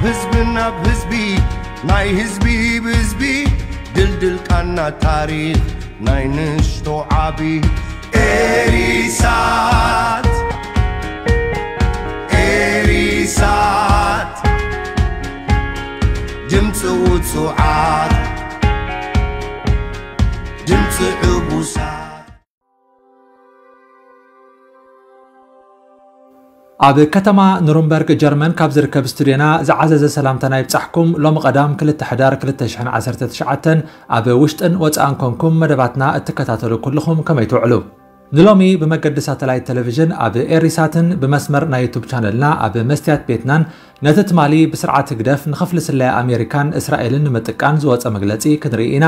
ህዝቢ ናብ ህዝቢ ናይ ህዝቢ ብህዝቢ ድልድል ቃና ታሪኽ ናይ ንሽቶ ዓቢ ኤሪሳት ኤሪሳት ድምፂ ውፁዓት ድምፂ ዕቡሳት ኣብ ከተማ ኑርንበርግ ጀርመን ካብ ዝርከብ ስቱድዮና ዝዓዘዘ ሰላምታና ይብጻሕኩም። ሎሚ ቀዳም ክልተ ሕዳር ክልተ ሽሕን ዓሰርተ ትሽዓተን ኣብ ውሽጥን ወጻእን ኮንኩም መደባትና እትከታተሉ ኩልኹም ከመይ ትውዕሉ? ንሎሚ ብመገዲ ሳተላይት ቴሌቪዥን ኣብ ኤሪሳትን ብመስመር ናይ ዩቱብ ቻነልና ኣብ መስትያት ቤትናን ነቲ ትማሊ ብስርዓት ህግደፍ ንኽፍሊ ስለያ ኣሜሪካን እስራኤልን ንምጥቃን ዝወጸ መግለጺ ክንርኢ ኢና።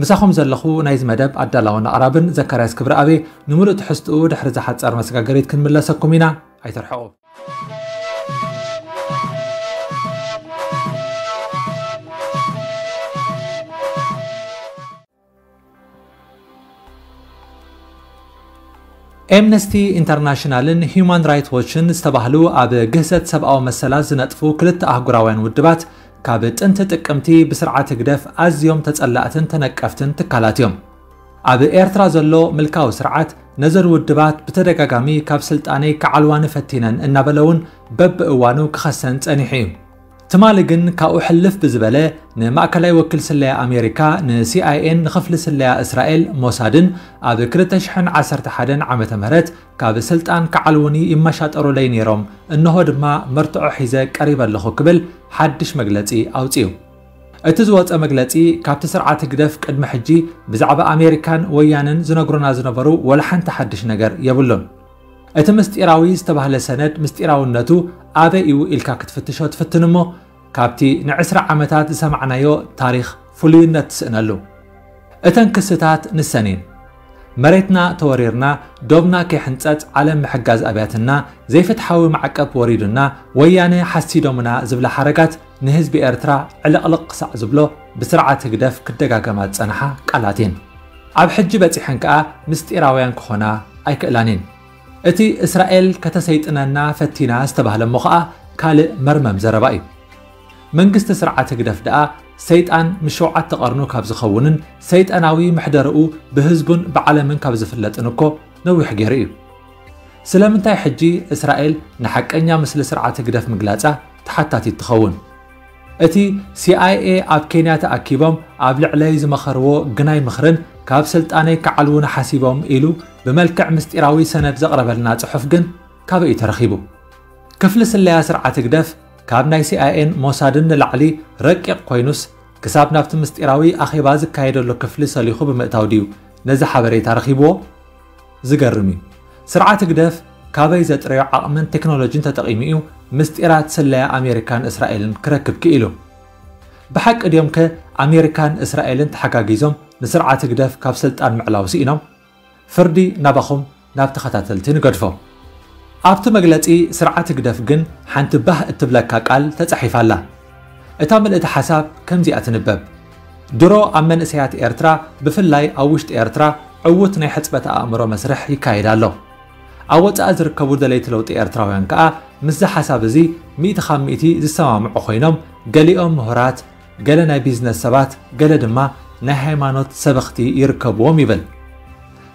ምሳኹም ዘለኹ ናይዚ መደብ ኣዳላውን ኣቕራብን ዘካርያስ ክብረኣብ። ንምሉእ ትሕዝትኡ ድሕሪ እዛ ሓጻር መስጋገሪት ክንምለሰኩም ኢና። ኣይትርሕቑ። ኤምነስቲ ኢንተርናሽናልን ሂዩማን ራይት ዎችን ዝተባህሉ ኣብ ግህሰት ሰብኣዊ መሰላት ዝነጥፉ ክልተ ኣህጉራውያን ውድባት፣ ካብ ጥንቲ ጥቅምቲ ብስርዓት ህግደፍ ኣዝዮም ተጸላእትን ተነቀፍትን ትካላት እዮም። ኣብ ኤርትራ ዘሎ ምልካዊ ስርዓት ነዘን ውድባት ብተደጋጋሚ ካብ ስልጣነይ ክዓልዋኒ ፈቲነን እናበለ እውን በብእዋኑ ክኸሰን ጸኒሑ እዩ። ትማሊ ግን ካብኡ ሕልፍ ብዝበለ ንማእከላይ ወኪል ስለያ ኣሜሪካ፣ ንሲኣይኤን ንኽፍሊ ስለያ እስራኤል ሞሳድን ኣብ ክልተ ሽሕን ዓሰርተ ሓደን ዓመተ ምህረት ካብ ስልጣን ክዓልውኒ ይመሻጠሩለይ ነይሮም፣ እንሆ ድማ መርትዖ ሒዘ ቀሪበ ኣለኹ ክብል ሓድሽ መግለጺ ኣውጺኡ። እቲ ዝወጸ መግለጺ ካብቲ ስርዓት ህግደፍ ቅድሚ ሕጂ ብዛዕባ ኣሜሪካን ወያነን ዝነግሩና ዝነበሩ ወላ ሓንቲ ሓድሽ ነገር የብሉን። እቲ ምስጢራዊ ዝተባህለ ሰነድ ምስጢራውነቱ ኣበይ እዩ ኢልካ ክትፍትሾ ትፍትን እሞ፣ ካብቲ ንዕስራ ዓመታት ዝሰማዕናዮ ታሪኽ ፍሉይነት ትስእነሉ። እተን ክስታት ንሰን እየን። መሬትና ተወሪርና፣ ዶብና ከይሕንጸጽ ዓለም ምሕጋዝ ኣብያትና፣ ዘይፍትሓዊ ማዕቀብ ወሪዱና፣ ወያነ ሓሲዶምና ዝብላ ሓረጋት ንህዝቢ ኤርትራ ዕልቕልቕ ክሳዕ ዝብሎ ብስርዓት ህግደፍ ክደጋገማ ዝጸንሓ ቃላት እየን። ኣብ ሕጂ በጺሐን ከኣ ምስጢራውያን ክኾና ኣይክእላን እየን። እቲ እስራኤል ከተሰይጥነና ፈቲና ዝተባህለ እሞ ኸኣ ካልእ መርመም ዘረባ እዩ። መንግስቲ ስርዓት ህግደፍ ደኣ ሰይጣን ምስ ሸውዓተ ቀርኑ ካብ ዝኸውንን ሰይጣናዊ መሕደርኡ ብህዝቡን ብዓለምን ካብ ዝፍለጥን እኮ ነዊሕ ገይሩ እዩ። ስለምንታይ ሕጂ እስራኤል ንሓቀኛ ምስሊ ስርዓት ህግደፍ ምግላጻ ተሓታቲት ትኸውን? እቲ ሲኣይኤ ኣብ ኬንያ ተኣኪቦም ኣብ ልዕለይ ዝመኸርዎ ግናይ ምኽርን ካብ ስልጣነይ ክዓልዉኒ ሓሲቦም ኢሉ ብመልክዕ ምስጢራዊ ሰነድ ዘቕረበልና ጽሑፍ ግን ካበይ እዩ ተረኺቡ? ክፍሊ ስለያ ስርዓት ህግደፍ ካብ ናይ ሲኣይኤን ሞሳድን ንላዕሊ ረቂቕ ኮይኑስ ክሳብ ናብቲ ምስጢራዊ ኣኼባ ዝካየደሉ ክፍሊ ሰሊኹ ብምእታው ድዩ ነዚ ሓበሬታ ረኺብዎ? ዝገርም እዩ። ስርዓት ህግደፍ ካበይ ዘጥረዮ ዓቕምን ቴክኖሎጂን ተጠቒሙ እዩ ምስጢራት ስለያ ኣሜሪካን እስራኤልን ክረክብ ክኢሉ? ብሓቂ ድዮም ከ ኣሜሪካን እስራኤልን ተሓጋጊዞም ንስርዓት ህግደፍ ካብ ስልጣን ምዕላው ስኢኖም? ፍርዲ ናባኹም ናብ ተኸታተልቲ ንገድፎ። ኣብቲ መግለጺ ስርዓት ህግደፍ ግን ሓንቲ ባህ እትብለካ ቃል ተጻሒፋ ኣላ። እታ ምልእቲ ሓሳብ ከምዚኣ ትንበብ። ድሮ ኣብ መንእሰያት ኤርትራ፣ ብፍላይ ኣብ ውሽጢ ኤርትራ፣ ዕዉት ናይ ሕጽበት ኣእምሮ መስርሕ ይካየድ ኣሎ። ኣብ ወጻኢ ዝርከቡ ደለይቲ ለውጢ ኤርትራውያን ከኣ ምስዚ ሓሳብ እዚ ሚእቲ ካብ ሚእቲ ዝሰማምዑ ኮይኖም፣ ገሊኦም ምሁራት፣ ገለ ናይ ቢዝነስ ሰባት፣ ገለ ድማ ናይ ሃይማኖት ሰበኽቲ ይርከብዎም ይብል።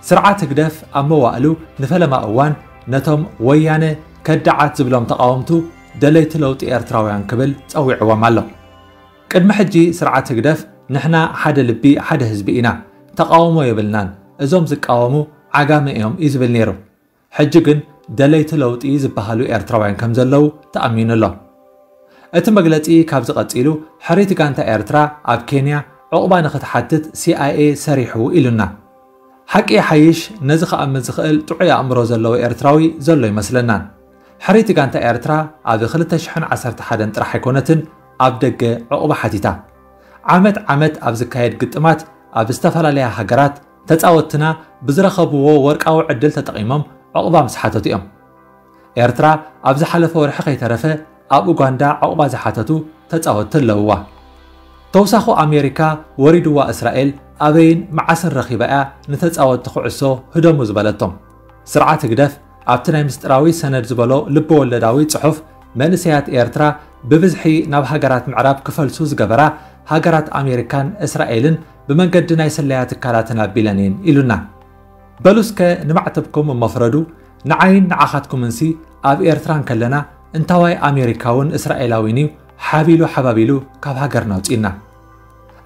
ስርዓት ህግደፍ ኣብ መዋእሉ ንፈለማ እዋን ነቶም ወያነ ከዳዓት ዝብሎም ተቓወምቱ ደለይቲ ለውጢ ኤርትራውያን ክብል ጸዊዕዎም ኣሎ። ቅድሚ ሕጂ ስርዓት ህግደፍ ንሕና ሓደ ልቢ ሓደ ህዝቢ ኢና፣ ተቓውሞ የብልናን፣ እዞም ዝቃወሙ ዓጋመ እዮም እዩ ዝብል ነይሩ። ሕጂ ግን ደለይቲ ለውጢ ዝበሃሉ ኤርትራውያን ከም ዘለዉ ተኣሚኑ ኣሎ። እቲ መግለጺ ካብዚ ቀጺሉ ሕሪት ጋንታ ኤርትራ ኣብ ኬንያ ዑቕባ ንኽትሓትት ሲኣይኤ ሰሪሑ ኢሉና። ሓቂ ይሓይሽ ነዚ ክኣምን ዝኽእል ጥዑይ ኣእምሮ ዘለዎ ኤርትራዊ ዘሎ ይመስለናን። ሕሪት ጋንታ ኤርትራ ኣብ ክልተ ሽሕን ዓሰርተ ሓደን ጥራሕ ኣይኮነትን ኣብ ደገ ዑቕባ ሓቲታ። ዓመት ዓመት ኣብ ዝካየድ ግጥማት ኣብ ዝተፈላለያ ሃገራት ተጻወትትና ብዝረኸብዎ ወርቃዊ ዕድል ተጠቒሞም ዑቕባ ምስ ሓተቱ እዮም። ኤርትራ ኣብ ዝሓለፈ ወርሒ ከይተረፈ ኣብ ኡጋንዳ ዑቕባ ዝሓተቱ ተጻወትቲ ኣለውዋ። ተውሳኹ ኣሜሪካ ወሪድዋ እስራኤል ኣበይን መዓስን ረኺባ እያ ንተጻወትቲ ኩዕሶ ህደሙ ዝበለቶም? ስርዓት ህግደፍ ኣብቲ ናይ ምስጢራዊ ሰነድ ዝበሎ ልበወለዳዊ ጽሑፍ መንእሰያት ኤርትራ ብብዝሒ ናብ ሃገራት ምዕራብ ክፈልሱ ዝገበራ ሃገራት ኣሜሪካን እስራኤልን ብመንገዲ ናይ ስለያ ትካላትን ኣቢለን እየን ኢሉና። በሉ እስከ ንማዕተብኩም እሞ ፍረዱ፣ ንዓይን ንዓኻትኩምንሲ ኣብ ኤርትራ እንከለና እንታዋይ ኣሜሪካውን እስራኤላዊን እዩ ሓቢሉ ሓባቢሉ ካብ ሃገርና ኣውጺእና?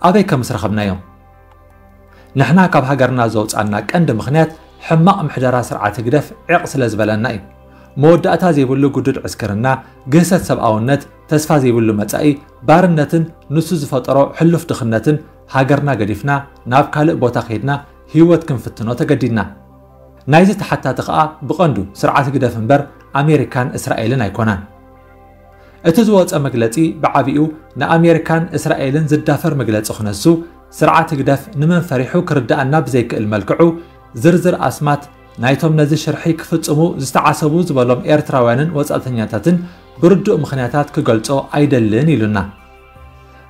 ኣበይ ከ ምስ ረኸብናዮም? ንሕና ካብ ሃገርና ዘውጻና ቀንዲ ምኽንያት ሕማቕ ምሕደራ ስርዓት ህግደፍ ዕቕ ስለ ዝበለና እዩ። መወዳእታ ዘይብሉ ግዱድ ዕስክርና፣ ግህሰት ሰብኣውነት፣ ተስፋ ዘይብሉ መጻኢ፣ ባርነትን ንሱ ዝፈጠሮ ሕሉፍ ድኽነትን ሃገርና ገዲፍና ናብ ካልእ ቦታ ከይድና ህይወት ክንፍትኖ ተገዲድና። ናይዚ ተሓታቲ ከኣ ብቐንዱ ስርዓት ህግደፍ እምበር ኣሜሪካን እስራኤልን ኣይኮናን። እቲ ዝወጸ መግለጺ ብዓቢኡ ንኣሜሪካን እስራኤልን ዝዳፈር መግለጺ ክነሱ፣ ስርዓት ህግደፍ ንመን ፈሪሑ ክርድኣና ብዘይክእል መልክዑ ዝርዝር ኣስማት ናይቶም ነዚ ሽርሒ ክፍጽሙ ዝተዓሰቡ ዝበሎም ኤርትራውያንን ወጻእተኛታትን ብርዱእ ምኽንያታት ክገልጾ ኣይደልን ኢሉና።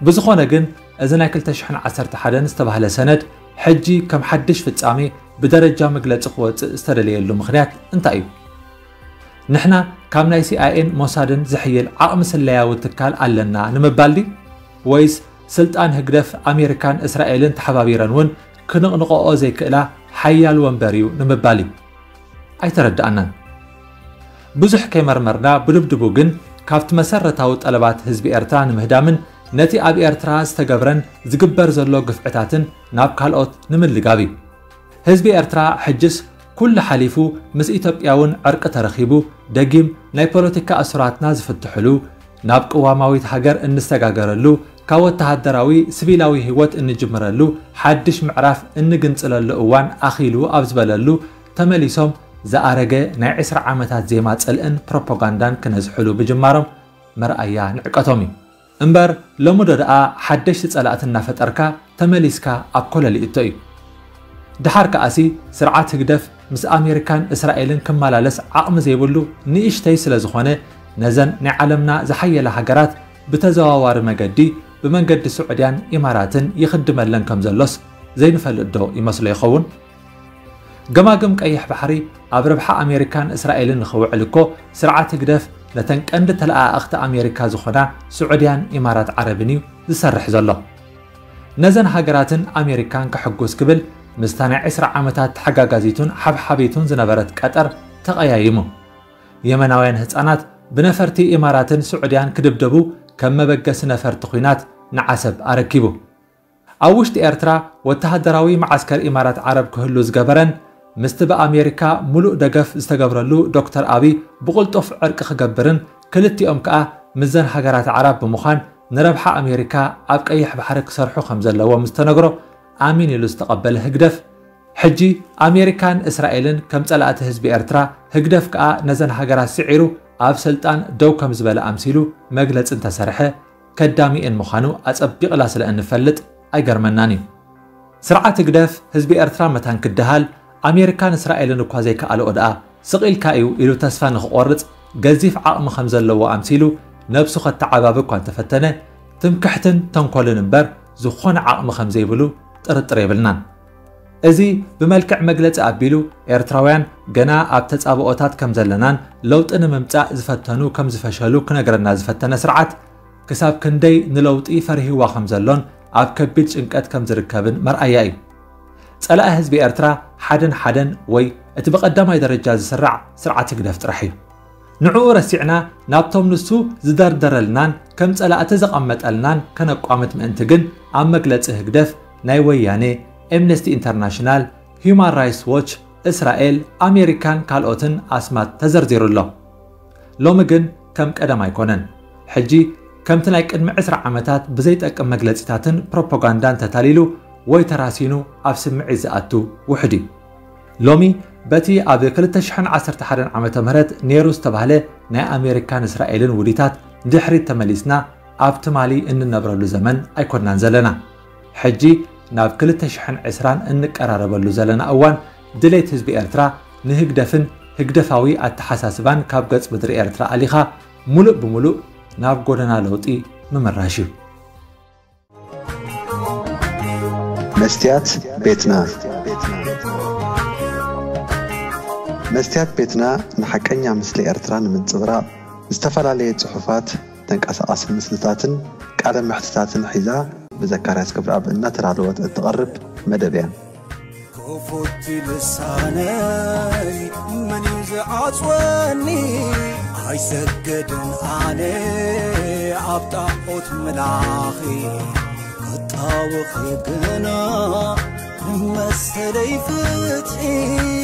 ብዝኾነ ግን እዚ ናይ ክልተ ሽሕን ዓሰርተ ሓደን ዝተባህለ ሰነድ ሕጂ ከም ሓድሽ ፍጻሜ ብደረጃ መግለጺ ክወጽእ ዝተደለየሉ ምኽንያት እንታይ እዩ? ንሕና ካብ ናይ ሲኣይኤን ሞሳድን ዝሕይል ዓቕሚ ስለያዊ ትካል ኣለና ንምባል ድዩ? ወይስ ስልጣን ህግደፍ ኣሜሪካን እስራኤልን ተሓባቢረን እውን ክንቕንቕኦ ዘይክእላ ሓያል ወንበር እዩ ንምባል እዩ? ኣይተረድኣናን። ብዙሕ ከይመርመርና ብድብድቡ ግን ካብቲ መሰረታዊ ጠለባት ህዝቢ ኤርትራ ንምህዳምን ነቲ ኣብ ኤርትራ ዝተገብረን ዝግበር ዘሎ ግፍዕታትን ናብ ካልኦት ንምልጋብ እዩ። ህዝቢ ኤርትራ ሕጅስ ኩሉ ሓሊፉ ምስ ኢትዮጵያ እውን ዕርቂ ተረኺቡ ደጊም ናይ ፖለቲካ እሱራትና ዝፍትሕሉ፣ ናብ ቅዋማዊት ሃገር እንሰጋገረሉ፣ ካብ ወተሃደራዊ ስቪላዊ ህይወት እንጅምረሉ፣ ሓድሽ ምዕራፍ እንግንጽለሉ እዋን ኣኺሉ ኣብ ዝበለሉ ተመሊሶም ዝኣረገ ናይ ዕስራ ዓመታት ዜማ ጽልእን ፕሮፓጋንዳን ክነዝሕሉ ብጅማሮም መርኣያ ንዕቀቶም እዩ። እምበር ሎሚ ዶ ደኣ ሓደሽቲ ጸላእቲ እናፈጠርካ ተመሊስካ ኣብ ኮለል ይእቶ እዩ። ደሓር ከኣሲ ስርዓት ህግደፍ ምስ ኣሜሪካን እስራኤልን ክመላለስ ዓቕሚ ዘይብሉ ንእሽተይ ስለ ዝኾነ ነዘን ናይ ዓለምና ዝሓየላ ሃገራት ብተዘዋዋሪ መገዲ ብመንገዲ ስዑድያን ኢማራትን ይኽድመለን ከም ዘሎስ ዘይንፈልጥ ዶ ይመስሎ ይኸውን? ገማግም ቀይሕ ባሕሪ ኣብ ረብሓ ኣሜሪካን እስራኤልን ንኽውዕል እኮ ስርዓት ህግደፍ ነተን ቀንዲ ተለኣኣኽቲ ኣሜሪካ ዝኾና ስዑድያን ኢማራት ዓረብን እዩ ዝሰርሕ ዘሎ። ነዘን ሃገራትን ኣሜሪካን ከሐጉስ ክብል ምስታ ናይ ዕስራ ዓመታት ተሓጋጋዚቱን ሓብሓቢቱን ዝነበረት ቀጠር ተቐያይሙ። የመናውያን ህጻናት ብነፈርቲ ኢማራትን ስዑድያን ክድብደቡ ከም መበገሲ ነፈርቲ ኲናት ንዓሰብ ኣረኪቡ። ኣብ ውሽጢ ኤርትራ ወተሃደራዊ መዓስከር ኢማራት ዓረብ ክህሉ ዝገበረን ምስቲ ብኣሜሪካ ሙሉእ ደገፍ ዝተገብረሉ ዶክተር ኣቢ ብቕልጡፍ ዕርቂ ክገብርን ክልቲኦም ከኣ ምስዘን ሃገራት ኣዕራብ ብምዃን ንረብሓ ኣሜሪካ ኣብ ቀይሕ ባሕሪ ክሰርሑ ከም ዘለዎም ዝተነግሮ ኣሚን ኢሉ ዝተቐበለ ህግደፍ፣ ሕጂ ኣሜሪካን እስራኤልን ከም ጸላእቲ ህዝቢ ኤርትራ፣ ህግደፍ ከኣ ነዘን ሃገራት ስዒሩ ኣብ ስልጣን ደው ከም ዝበለ ኣምሲሉ መግለጺ እንተሰርሐ ከዳሚኤን ምዃኑ ኣጸቢቕላ ስለ እንፈልጥ ኣይገርመናን እዩ። ስርዓት ህግደፍ ህዝቢ ኤርትራ መታን ክደሃል ኣሜሪካን እስራኤልን እኳ ዘይከኣልኦ ደኣ ስቕ ኢልካ እዩ ኢሉ ተስፋ ንኽቖርጽ ገዚፍ ዓቕሚ ከም ዘለዎ ኣምሲሉ ነብሱ ከተዓባቢ እኳ እንተፈተነ ትምክሕትን ተንኮልን እምበር ዝኾነ ዓቕሚ ከም ዘይብሉ ጥርጥር የብልናን። እዚ ብመልክዕ መግለጺ ኣቢሉ ኤርትራውያን ገና ኣብ ተጻብኦታት ከም ዘለናን ለውጢ ንምምጻእ ዝፈተኑ ከም ዝፈሸሉ ክነግረና ዝፈተነ ስርዓት ክሳብ ክንደይ ንለውጢ ፈሪህዋ ከም ዘሎን ኣብ ከቢድ ጭንቀት ከም ዝርከብን መርኣያ እዩ። ጸላኢ ህዝቢ ኤርትራ ሓደን ሓደን ወይ እቲ ብቐዳማይ ደረጃ ዝስራዕ ስርዓት ህግደፍ ጥራሕ እዩ። ንዕኡ ረሲዕና ናብቶም ንሱ ዝደርደረልናን ከም ጸላእቲ ዘቐመጠልናን ከነቋምት ምእንቲ ግን ኣብ መግለጺ ህግደፍ ናይ ወያኔ፣ ኤምነስቲ ኢንተርናሽናል፣ ሂዩማን ራይትስ ዎች፣ እስራኤል፣ ኣሜሪካን ካልኦትን ኣስማት ተዘርዚሩ ኣሎ። ሎሚ ግን ከም ቀደም ኣይኮነን። ሕጂ ከምቲ ናይ ቅድሚ ዕስራ ዓመታት ብዘይጠቅም መግለጺታትን ፕሮፓጋንዳን ተታሊሉ ወይ ተራሲኑ ኣብ ስምዒት ዝኣቱ ውሑድ እዩ። ሎሚ በቲ ኣብ ክልተ ሽሕን ዓሰርተ ሓደን ዓመተ ምህረት ነይሩ ዝተባህለ ናይ ኣሜሪካን እስራኤልን ውዲታት ንድሕሪት ተመሊስና ኣብ ትማሊ እንነብረሉ ዘመን ኣይኮንናን ዘለና። ሕጂ ናብ ክልተ ሽሕን ዕስራን እንቀራረበሉ ዘለና እዋን ድሌት ህዝቢ ኤርትራ ንህግደፍን ህግደፋዊ ኣተሓሳስባን ካብ ገጽ ምድሪ ኤርትራ ኣሊኻ ሙሉእ ብሙሉእ ናብ ጎደና ለውጢ ምምራሽ እዩ። መስትያት ቤትና። መስትያት ቤትና ንሓቀኛ ምስሊ ኤርትራ ንምንጽብራቕ ዝተፈላለየ ጽሑፋት፣ ተንቀሳቓሲ ምስልታትን ቃለ መሕትታትን ሒዛ ብዘካርያስ ክብረኣብ እናተዳለወት እትቐርብ መደብ እያ። ክፉት ልሳነይ መን እዩ ዝዓጽወኒ? ኣይሰገድን ኣነ ኣብ ጣዖት ምላኺ፣ ክጣወኺ ግና መሰለይ ፍትሒ።